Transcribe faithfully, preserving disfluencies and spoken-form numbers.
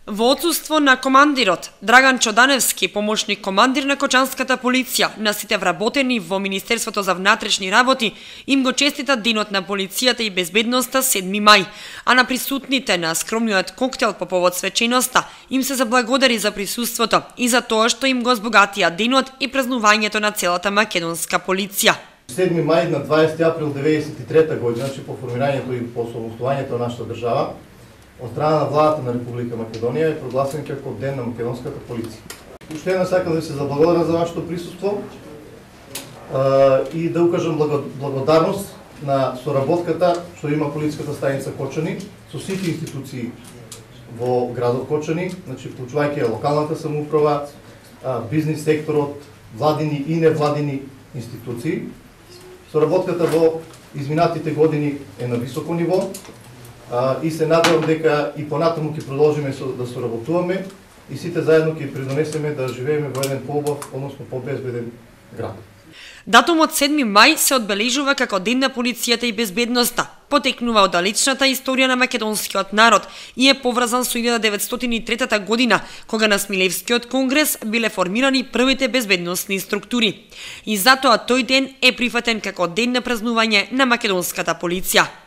Во отсуство на командирот, Драган Чоданевски, помошник командир на Кочанската полиција, на сите вработени во Министерството за внатрешни работи, им го честита Денот на полицијата и безбедноста седми мај, а на присутните на скромниот коктел по повод свеченоста им се заблагодари за присуството и за тоа што им го збогатија денот и празнувањето на целата македонска полиција. седми мај на дваесети април деветдесет и трета година, значи по формирањето и по самостојањето на нашата држава, од страна на владата на Република Македонија е прогласен како Ден на македонската полиција. Уште една сакам да ви се заблагодарам за вашето присуство и да укажам благодарност на соработката што има полициската станица Кочани со сите институции во градот Кочани, значи вклучувајќи локалната самоуправа, бизнис секторот, владини и невладини институции. Соработката во изминатите години е на високо ниво и се надевам дека и понатаму ќе продолжиме да соработуваме и сите заедно ќе придонесеме да живееме во еден поубав, односно побезбеден град. Датумот седми мај се одбележува како Ден на полицијата и безбедноста. Потекнува од далечната историја на македонскиот народ и е поврзан со илјада деветстотини и трета година, кога на Смилевскиот конгрес биле формирани првите безбедносни структури. И затоа тој ден е прифатен како Ден на празнување на македонската полиција.